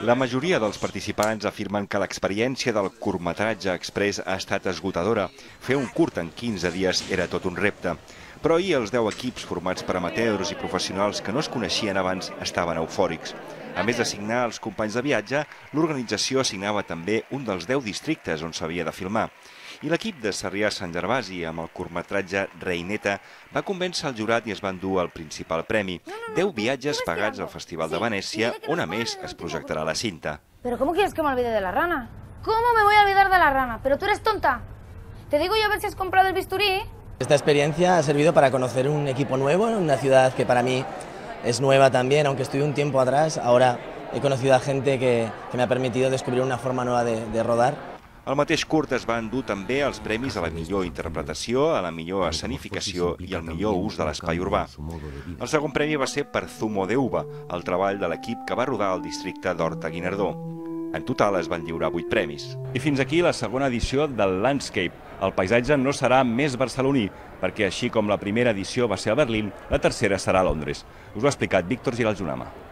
La majoria dels participants afirmen que l'experiència del curtmetratge express ha estat esgotadora. Fer un curt en 15 dies era tot un repte. Però ahir els 10 equips formats per amateurs i professionals que no es coneixien abans estaven eufòrics. A més de signar els companys de viatge, l'organització assignava també un dels 10 districtes on s'havia de filmar. I l'equip de Sarrià-Sant Gervasi, amb el curtmetratge Reineta, va convèncer el jurat i es van dur el principal premi. 10 viatges pagats al Festival de Venècia, on a més es projectarà la cinta. ¿Pero cómo quieres que me olvide de la rana? ¿Cómo me voy a olvidar de la rana? ¿Pero tú eres tonta? Te digo yo a ver si has comprado el bisturí. Esta experiencia ha servido para conocer un equipo nuevo, en una ciudad que para mí es nueva también, aunque estuve un tiempo atrás. Ahora he conocido a gente que me ha permitido descubrir una forma nueva de rodar. El mateix curt es va endur també els premis a la millor interpretació, a la millor escenificació i al millor ús de l'espai urbà. El segon premi va ser per Zumo de Uva, el treball de l'equip que va rodar al districte d'Horta-Guinardó. En total es van lliurar 8 premis. I fins aquí la segona edició del Landscape. El paisatge no serà més barceloní, perquè així com la primera edició va ser a Berlín, la tercera serà a Londres. Us ho ha explicat Víctor Giralt-Junama.